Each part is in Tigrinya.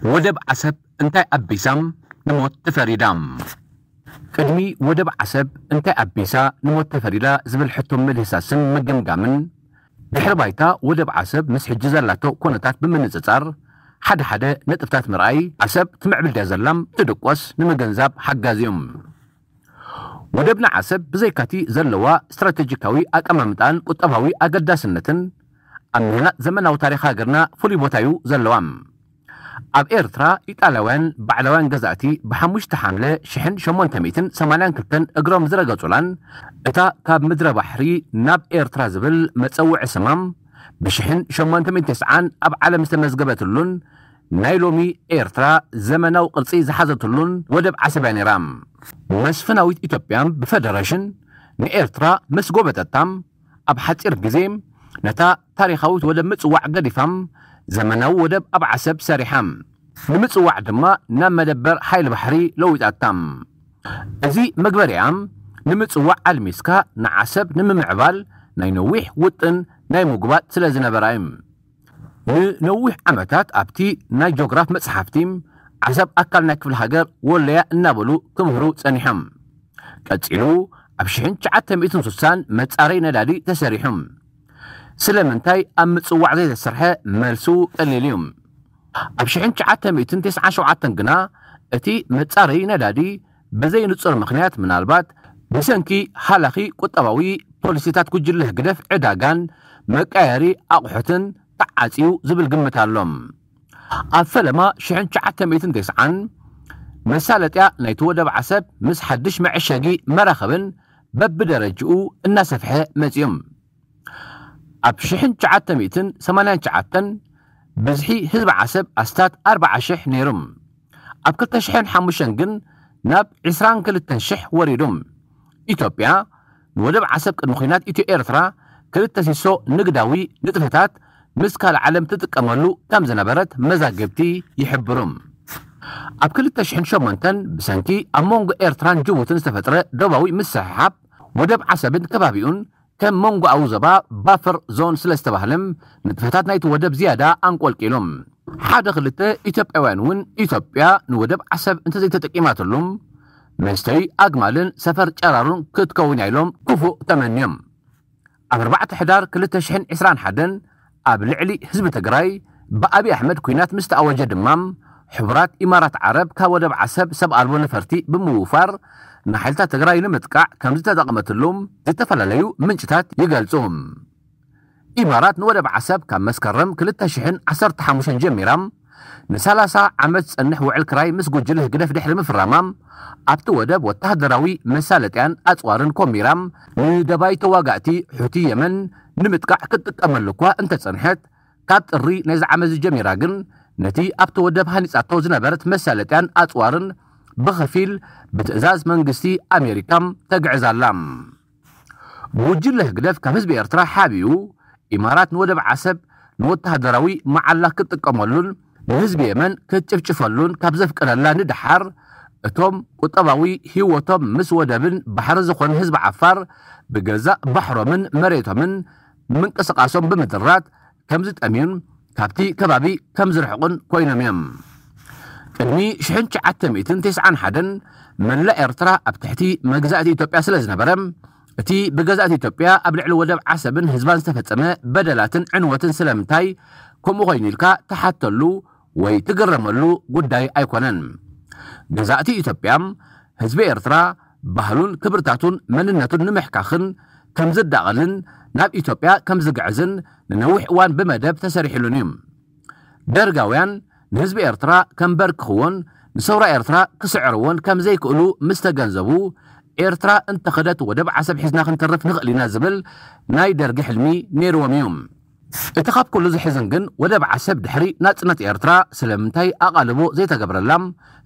ወደብ ዓሰብ እንታይ ኣቢሳ ንሞት ተፈሪዳ? ቅድሚ ወደብ ዓሰብ እንታይ ኣቢሳ ንሞት ተፈሪዳ ዝብል ሕቶ ምድህሳስን ምግምጋምን፣ ድሕሪ ባይታ ወደብ ዓሰብ ምስ ሕጂ ዘላቶ ኩነታት ብምንጽጻር ሓደ ሓደ ነጥብታት ምርኣይ፣ ዓሰብ ትምዕብል ድያ ዘላም ትድቆስ ንምግንዛብ ሓጋዚ እዩ። ወደብና ዓሰብ ብዘይካቲ ዘለዋ ስትራቴጂካዊ ኣቀማምጣን ቁጠባዊ ኣገዳስነትን ኣብ ምህናጽ ዘመናዊ ታሪኽ ሃገርና ፍሉይ ቦታ እዩ ዘለዋ። ኣብ ኤርትራ ኢጣልያውያን ባዕላውያን ገዛእቲ ብሓሙሽተ ሓምለ ሽሕን ሸሞንተ ሚእትን ሰማንያን ክልተን እግሮም ዝረገጹላን እታ ካብ ምድረ ባሕሪ ናብ ኤርትራ ዝብል መጸውዒ ስማም ብሽሕን ሸሞንተ ሚእትን ተስዓን ኣብ ዓለም ዝተመዝገበትሉን ናይ ሎሚ ኤርትራ ዘመናዊ ቅርጺ ዝሓዘትሉን ወደብ ዓሰብ እያ ነይራ። መስፍናዊት ኢትዮጵያ ብፈደረሽን ንኤርትራ ምስ ጎበጠታ ኣብ ሓጺር ግዜ ነታ ታሪኻዊት ወደብ ምጽዋዕ ገዲፋ ዘመናዊ ወደብ ኣብ ዓሰብ ሰሪሓ። ንምጽዋዕ ድማ ናብ መደበር ሓይሊ ባሕሪ ለዊጣታ። እዚ መግበሪኣ ንምጽዋዕ ኣልሚስካ ንዓሰብ ንምምዕባል ናይ ነዊሕ ውጥን ናይ ምጉባጥ ስለ ዝነበራ እዩ። ንነዊሕ ዓመታት ኣብቲ ናይ ጆግራፍ መጽሓፍቲ ዓሰብ ኣካል ናይ ክፍለ ሃገር ወለያ እናበሉ ክምህሩ ጸኒሖም። ቀጺሉ ኣብ ሽሕን ትሽዓተ ሚእትን ስሳን መጻረይ ነዳዲ ተሰሪሑ። ስለምንታይ ኣብ ምጽዋዕ ዘይተሰርሐ? መልሱ ቀሊል እዩ። ኣብ ሽሕን ትሽዓተ ሚእትን ተስዓን ሸውዓተን ግና እቲ መጻረይ ነዳዲ ብዘይ ንጹር ምኽንያት፣ ምናልባት ብሰንኪ ሃላኺ ቁጠባዊ ፖሊሲታት ጉጅለ ህግደፍ ዕዳጋን መቀያየሪ ኣቑሑትን ተዓጽዩ ዝብል ግምት ኣሎ። ኣብ ፈለማ ሽሕን ትሽዓተ ሚእትን ተስዓን መሳለጥያ ናይቲ ወደብ ዓሰብ ምስ ሓድሽ መዐሸጊ መራኸብን በብደረጅኡ እናሰፍሐ መጺኡ። ኣብ ሽሕን ትሽዓተ ሚእትን ሰማንያን ትሽዓተን ብዝሒ ህዝቢ ዓሰብ ኣስታት ኣርብዓ ሽሕ ነይሩ። ኣብ ክልተ ሽሕን ሓሙሽተን ግን ናብ ዕስራን ክልተን ሽሕ ወሪዱ። ኢትዮጵያ ንወደብ ዓሰብ ቅድሚ ኲናት ኢትዮ ኤርትራ ክልተ ሲሶ ንግዳዊ ንጥፈታት ምስ ካልእ ዓለም ትጥቀመሉ ከም ዝነበረት መዛግብቲ ይሕብሩ። ኣብ ክልተ ሽሕን ሸሞንተን ብሰንኪ ኣብ መንጎ ኤርትራን ጅቡትን ዝተፈጥረ ዶባዊ ምስሕሓብ ወደብ ዓሰብን ከባቢኡን ከም መንጎኣዊ ዞባ ባፈር ዞን ስለ ዝተባህለ ንጥፈታት ናይቲ ወደብ ዝያዳ ኣንቆልቂሉ። ሓደ ክልተ ኢትዮጵያውያን እውን ኢትዮጵያ ንወደብ ዓሰብ እንተዘይተጠቂማትሉ መስተይ ኣግማልን ሰፈር ጨራሩን ክትከውን እያ ኢሎም ክፉእ ተመንዮም። ኣብ ኣርባዕተ ሕዳር ክልተ ሽሕን ዕስራን ሓደን ኣብ ልዕሊ ህዝቢ ትግራይ ብኣብይ ኣሕመድ ኲናት ምስ ተኣወጀ ድማ ሕቡራት ኢማራት ዓረብ ካብ ወደብ ዓሰብ ሰብ ኣልቦ ነፈርቲ ብምውፋር ንሓይልታት ትግራይ ንምጥቃዕ ከም ዝተጠቐመትሉ ዝተፈላለዩ ምንጭታት ይገልጹ። ኢማራት ንወደብ ዓሰብ ካብ መስከረም ክልተ ሽሕን ዓሰርተ ሓሙሽተን ጀሚራ ንሰላሳ ዓመት ዝጸንሕ ውዕል ክራይ ምስ ጉጅለ ህግደፍ ድሕሪ ምፍራማ ኣብቲ ወደብ ወተሃደራዊ መሳለጥያን ኣጽዋርን ኮሚራ ንደባይ ተዋጋእቲ ሑቲ የመን ንምጥቃዕ ክትጥቀመሉ እኳ እንተጸንሐት፣ ካብ ጥሪ ናይዚ ዓመት ጀሚራ ግን ነቲ ኣብቲ ወደብ ሃኒጻቶ ዝነበረት መሳለጥያን ኣጽዋርን ብኸፊል ብትእዛዝ መንግስቲ ኣሜሪካ ተግዕዝ ኣላ። ጉጅለ ህግደፍ ካብ ህዝቢ ኤርትራ ሓቢኡ ኢማራት ንወደብ ዓሰብ ንወተሃደራዊ መዓላ ክትጥቀመሉን ንህዝቢ የመን ክትጭፍጭፈሉን ካብ ዘፍቅደላ ንደሓር፣ እቶም ቁጠባዊ ህይወቶም ምስ ወደብን ባሕሪ ዝኾነ ህዝቢ ዓፋር ብገዛእ ባሕሮምን መሬቶምን ምንቅስቃሶም ብምድራት ከም ዝጠምዩን ካብቲ ከባቢ ከም ዝርሕቑን ኮይኖም እዮም። ቅድሚ ሽሕን ትሽዓተ ሚእትን ተስዓን ሓደን መላእ ኤርትራ ኣብ ትሕቲ መግዛእቲ ኢትዮጵያ ስለ ዝነበረ፣ እቲ ብገዛእቲ ኢትዮጵያ ኣብ ልዕሊ ወደብ ዓሰብን ህዝባን ዝተፈጸመ በደላትን ዕንወትን ስለምንታይ ከምኡ ኮይኑ ኢልካ ትሓተሉ ወይ ትግረመሉ ጉዳይ ኣይኮነን። ገዛእቲ ኢትዮጵያ ህዝቢ ኤርትራ ባህሉን ክብርታቱን መንነቱን ንምሕካኽን ከም ዝዳቐልን ናብ ኢትዮጵያ ከም ዝግዕዝን ንነዊሕ እዋን ብመደብ ተሰሪሕሉን እዩ። ደርጋውያን ንህዝቢ ኤርትራ ከንበርክኽዎን ንሰውራ ኤርትራ ክስዕርዎን ከም ዘይክእሉ ምስ ተገንዘቡ፣ ኤርትራ እንተኸደት ወደብ ዓሰብ ሒዝና ክንተርፍ ንኽእል ኢና ዝብል ናይ ደርጊ ሕልሚ ነይርዎም እዩ። እቲ ካብ ኩሉ ዝሕዝን ግን ወደብ ዓሰብ ድሕሪ ናጽነት ኤርትራ ስለምንታይ ኣቓልቦ ዘይተገብረላ፣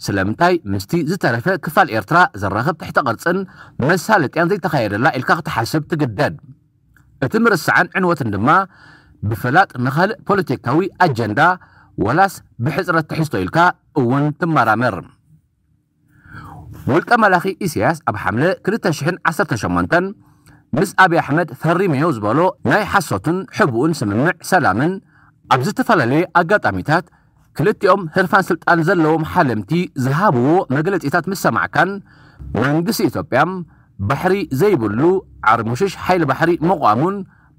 ስለምንታይ ምስቲ ዝተረፈ ክፋል ኤርትራ ዘራኽብ ትሕተ ቅርጽን መሳለጥያን ዘይተኻየደላ ኢልካ ክትሓስብ ትግደድ። እቲ ምርሳዕን ዕንወትን ድማ ብፍላጥ ንኻልእ ፖለቲካዊ ኣጀንዳ ወላስ ብሕጽረት ትሕዝቶ ኢልካ እውን ትመራመር። ውልቀ መላኺ ኢሳያስ ኣብ ሓምለ ክልተ ሽሕን ዓሰርተ ሸሞንተን ምስ ኣብይ ኣሕመድ ፈሪመዮ ዝበሎ ናይ ሓሶትን ሕቡእን ስምምዕ ሰላምን ኣብ ዝተፈላለየ ኣጋጣሚታት ክልቲኦም ህርፋን ስልጣን ዘለዎም ሓለምቲ ዝሃብዎ መግለጺታት ምስ ሰማዕካን፣ መንግስቲ ኢትዮጵያ ባሕሪ ዘይብሉ ዓርሙሽሽ ሓይሊ ባሕሪ ምቋሙን፣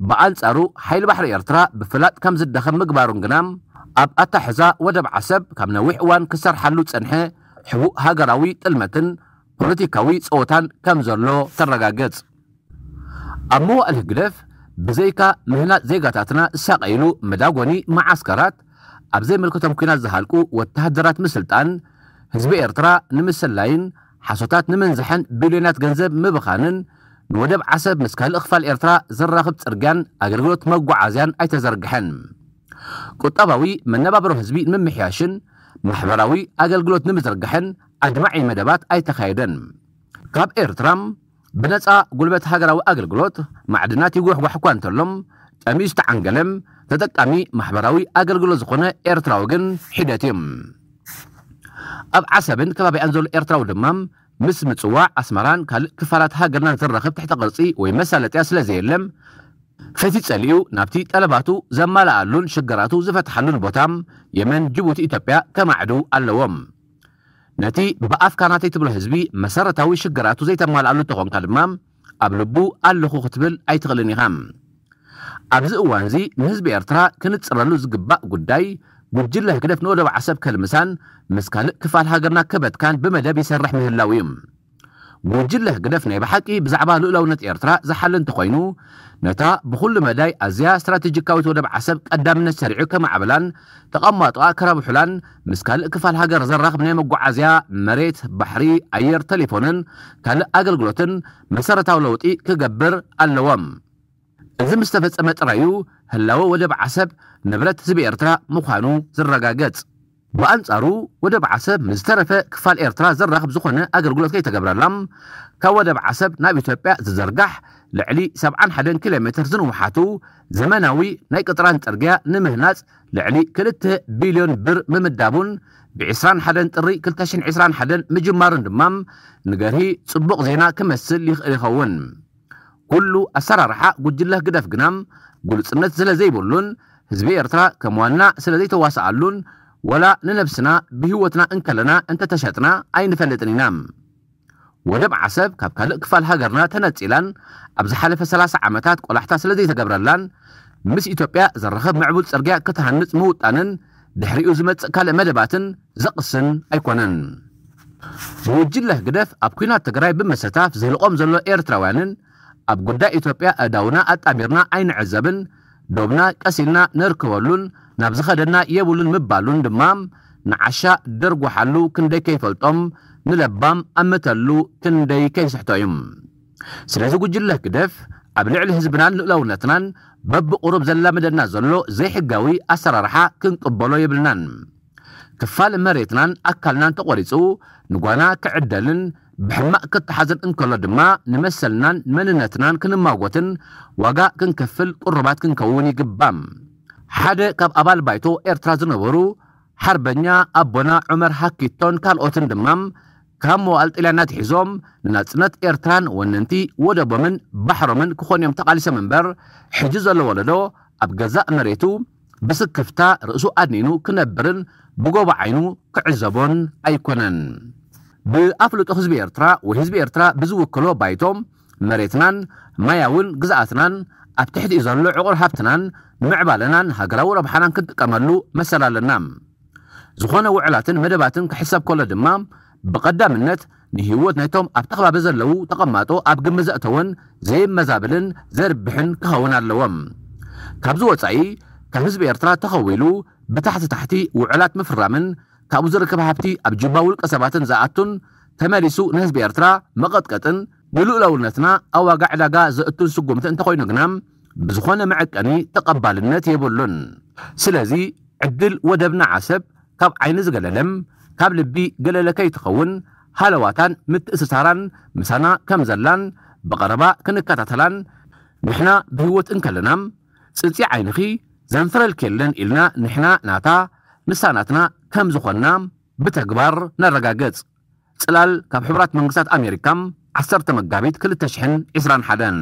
ብኣንጻሩ ሓይሊ ባሕሪ ኤርትራ ብፍላጥ ከም ዝዳኸም ምግባሩን ግና፣ ኣብ ኣታሕዛ ወደብ ዓሰብ ካብ ነዊሕ እዋን ክሰርሓሉ ዝጸንሐ ሕቡእ ሃገራዊ ጥልመትን ፖለቲካዊ ጸወታን ከም ዘሎ ተረጋገጽ። ኣብ መዋእል ህግደፍ ብዘይካ ምህናጽ ዜጋታትና ዝሳቐይሉ መዳጎኒ መዓስከራት፣ ኣብ ዘይምልከቶም ኲናት ዝሃልቁ ወተሃደራት ምስልጣን፣ ህዝቢ ኤርትራ ንምስላይን ሓሶታት ንምንዛሕን ቢልዮናት ገንዘብ ምብኻንን፣ ንወደብ ዓሰብ ምስ ካልእ ክፋል ኤርትራ ዘራኽብ ጽርግያን ኣገልግሎት መጓዓዝያን ኣይተዘርግሐን። ቁጠባዊ መነባብሮ ህዝቢ ንምምሕያሽን ማሕበራዊ ኣገልግሎት ንምዝርጋሕን ኣድማዒ መደባት ኣይተኻየደን። ካብ ኤርትራ ብነጻ ጉልበት ሃገራዊ ኣገልግሎት ማዕድናት ይጓሕጓሕ እኳ እንተሎም፣ ጠምዩ ዝተዓንገለም ተጠቃሚ ማሕበራዊ ኣገልግሎት ዝኾነ ኤርትራዊ ግን ሒደት እዩ። ኣብ ዓሰብን ከባቢኣን ዘሎ ኤርትራዊ ድማ ምስ ምጽዋዕ ኣስመራን ካልእ ክፋላት ሃገርናን ዘራኽብ ትሕተ ቅርጺ ወይ መሳለጥያ ስለ ዘየለም፣ ፈቲ ጸሊኡ ናብቲ ጠለባቱ ዘማልኣሉን ሽግራቱ ዝፈትሓሉን ቦታ የመን፣ ጅቡቲ፣ ኢትዮጵያ ከማዕዱ ኣለዎም። ነቲ ብኣፍካ ናተይ ትብሎ ህዝቢ መሰረታዊ ሽግራቱ ዘይተማልኣሉ እንተኾንካ ድማ፣ ኣብ ልቡ ኣለኹ ክትብል ኣይትኽእልን ኢኻ። ኣብዚ እዋንዚ ንህዝቢ ኤርትራ ክንጽረሉ ዝግባእ ጉዳይ፣ ጉጅለ ህግደፍ ንወደብ ዓሰብ ከልምሳን ምስ ካልእ ክፋል ሃገርና ክበትካን ብመደብ ይሰርሕ ምህላው እዩ። ጉጅለ ህግደፍ ናይ ብሓቂ ብዛዕባ ልኡላውነት ኤርትራ ዝሓሊ እንተኾይኑ፣ ነታ ብኹሉ መዳይ ኣዝያ ስትራቴጂካዊት ወደብ ዓሰብ ቀዳምነት ሰሪዑ ከማዕብላን ተቐማጦኣ ከረብሑላን፣ ምስ ካልእ ክፋል ሃገር ዘራኽብ ናይ መጓዓዝያ፣ መሬት፣ ባሕሪ፣ ኣየር፣ ቴሌፎንን ካልእ ኣገልግሎትን መሰረታዊ ለውጢ ክገብር ኣለዎም። እዚ ምስ ተፈጸመ ጥራይ እዩ ህላወ ወደብ ዓሰብ ንብረት ህዝቢ ኤርትራ ምዃኑ ዝረጋገጽ። ብኣንጻሩ፣ ወደብ ዓሰብ ምስ ዝተረፈ ክፋል ኤርትራ ዘራኽብ ዝኾነ ኣገልግሎት ከይተገብረላ፣ ካብ ወደብ ዓሰብ ናብ ኢትዮጵያ ዝዘርጋሕ ልዕሊ ሰብዓን ሓደን ኪሎ ሜትር ዝንውሓቱ ዘመናዊ ናይ ቅጥራን ጽርግያ ንምህናጽ ልዕሊ ክልተ ቢልዮን ብር ምምዳቡን፣ ብ ዕስራን ሓደን ጥሪ ክልተ ሽሕን ዕስራን ሓደን ምጅማሩን ድማ ንገርሂ ጽቡቕ ዜና ክመስል ይኽእል ይኸውን። ኩሉ ኣሰራርሓ ጉጅለ ህግደፍ ግና ግሉጽነት ስለ ዘይብሉን ህዝቢ ኤርትራ ከም ዋና ስለ ዘይተዋስኣሉን፣ ወላ ንነብስና ብህይወትና እንከለና እንተተሸጥና ኣይንፈልጥን ኢና። ወደብ ዓሰብ ካብ ካልእ ክፋል ሃገርና ተነጺላን ኣብ ዝሓለፈ ሰላሳ ዓመታት ቆላሕታ ስለ ዘይተገብረላን፣ ምስ ኢትዮጵያ ዘራኽብ ምዕቡል ጽርግያ ክትሃንጽ ምውጣንን ድሕሪኡ ዝመጽእ ካልእ መደባትን ዘቕስን ኣይኮነን። ጉጅለ ህግደፍ ኣብ ኲናት ትግራይ ብምስታፍ ዘህልቖም ዘሎ ኤርትራውያንን ኣብ ጉዳይ ኢትዮጵያ ኣእዳውና ኣጣሚርና ኣይንዕዘብን፣ ዶብና ቀሲልና ነርክበሉን ናብ ዝኸደና የብሉን ምባሉን ድማ ንዓሻ ደርጉሓሉ ክንደይ ከይፈልጦም፣ ንለባም ኣምተሉ ክንደይ ከይስሕቶ እዩ። ስለዚ ጉጅለ ህግደፍ ኣብ ልዕሊ ህዝብናን ልኡላውነትናን በብቑሩብ ዘላምደና ዘሎ ዘይሕጋዊ ኣሰራርሓ ክንቅበሎ የብልናን። ክፋል መሬትናን ኣካልናን ተቖሪጹ ንጓና ክዕደልን ብሕማቕ ክተሓዝን እንከሎ ድማ ንመሰልናን መንነትናን ክንማጎትን ዋጋ ክንከፍል ቅሩባት ክንከውን ይግባእ። ሓደ ካብ ኣባል ባይቶ ኤርትራ ዝነበሩ ሓርበኛ ኣቦና ዑመር ሃኪቶን ካልኦትን ድማ ካብ መዋእል ጥልያን ኣትሒዞም ንናጽነት ኤርትራን ወነንቲ ወደቦምን ባሕሮምን ክኾኑ እዮም ተቓሊሶም እምበር፣ ሕጂ ዘሎ ወለዶ ኣብ ገዛእ መሬቱ ብስክፍታ ርእሱ ኣድኒኑ ክነብርን ብጎቦ ዓይኑ ክዕዘቦን ኣይኮነን። ብኣፍልጦ ህዝቢ ኤርትራ ወይ ህዝቢ ኤርትራ ብዝውክሎ ባይቶ መሬትናን ማያውን ግዝኣትናን ኣብ ትሕቲኡ ዘሎ ዕቑር ሃብትናን ምዕባለናን ሃገራዊ ረብሓናን ክንጥቀመሉ መሰል ኣለና። ዝኾነ ውዕላትን መደባትን ክሕሰብ ከሎ ድማ ብቐዳምነት ንህይወት ናይቶም ኣብቲ ከባቢ ዘለዉ ተቐማጦ ኣብ ግምት ዘእተወን ዘይመዛብልን ዘርብሕን ክኸውን ኣለዎም። ካብዚ ወጻኢ ካብ ህዝቢ ኤርትራ ተኸዊሉ ብታሕቲ ታሕቲ ውዕላት ምፍራምን ካብኡ ዝርከብ ሃብቲ ኣብ ጅባ ውልቀ ሰባትን ዝኣቱን ተመሊሱ ንህዝቢ ኤርትራ መቐጥቀጥን ንልኡላውነትና ኣብ ዋጋ ዕዳጋ ዘእቱን ስጉምቲ እንተኾይኑ ግና ብዝኾነ መዐቀኒ ተቐባልነት የብሉን። ስለዚ ዕድል ወደብና ዓሰብ ካብ ዓይኒ ዝገለለም ካብ ልቢ ገለለ ከይትኸውን ሃለዋታን ምትእስሳራን ምሳና ከም ዘላን ብቐረባ ክንከታተላን ንሕና ብህይወት እንከለና ጽንጺ ዓይንኺ ዘንፍረልኪ የለን ኢልና ንሕና ናታ ንሳ ናትና ከም ዝኾንና ብተግባር ነረጋግጽ። ጽላል ካብ ሕቡራት መንግስታት ኣሜሪካ ዓሰርተ መጋቢት ክልተ ሽሕን ዕስራን ሓደን።